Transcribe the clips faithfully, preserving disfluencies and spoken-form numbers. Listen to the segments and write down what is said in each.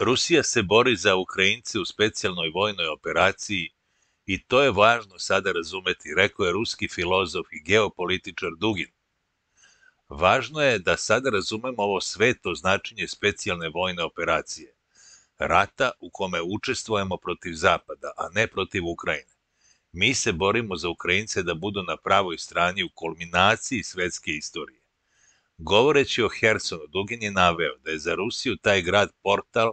Rusija se bori za Ukrajince u specijalnoj vojnoj operaciji i to je važno sada razumeti, rekao je ruski filozof i geopolitičar Dugin. Važno je da sada razumemo ovo sveto značenje specijalne vojne operacije, rata u kome učestvujemo protiv Zapada, a ne protiv Ukrajine. Mi se borimo za Ukrajince da budu na pravoj strani u kulminaciji svetske istorije. Govoreći o Hersonu, Dugin je naveo da je za Rusiju taj grad portal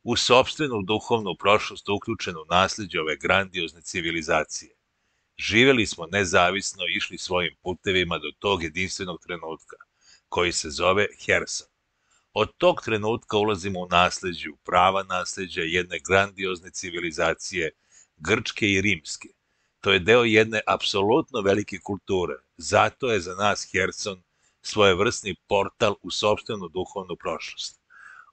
u sopstvenu duhovnu prošlost uključen u nasleđe ove grandiozne civilizacije. Živeli smo nezavisno i išli svojim putevima do tog jedinstvenog trenutka, koji se zove Herson. Od tog trenutka ulazimo u nasleđe, u prava nasleđa jedne grandiozne civilizacije, grčke i rimske. To je deo jedne apsolutno velike kulture. Zato je za nas Herson svojevrsni portal u sopstvenu duhovnu prošlost.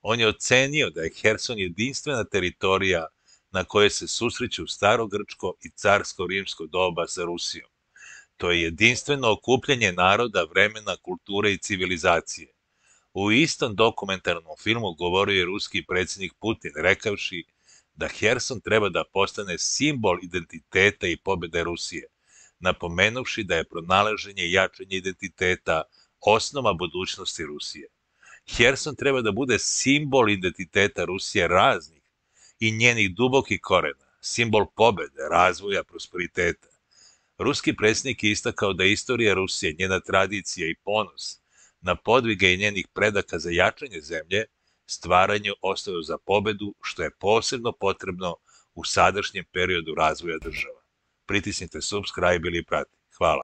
On je ocenio da je Herson jedinstvena teritorija na kojoj se susreću starogrčko i carsko-rimsko doba sa Rusijom. To je jedinstveno okupljanje naroda, vremena, kulture i civilizacije. U istom dokumentarnom filmu govorio je ruski predsjednik Putin, rekavši da Herson treba da postane simbol identiteta i pobjede Rusije, napomenuvši da je pronalaženje i jačanje identiteta osnova budućnosti Rusije. Herson treba da bude simbol identiteta Rusije raznih i njenih dubokih korena, simbol pobjede, razvoja, prosperiteta. Ruski predsjednik je istakao da istorija Rusije, njena tradicija i ponos na podvige i njenih predaka za jačanje zemlje, stvaranju ostaju za pobedu, što je posebno potrebno u sadašnjem periodu razvoja država. Pritisnite subscribe ili prati. Hvala.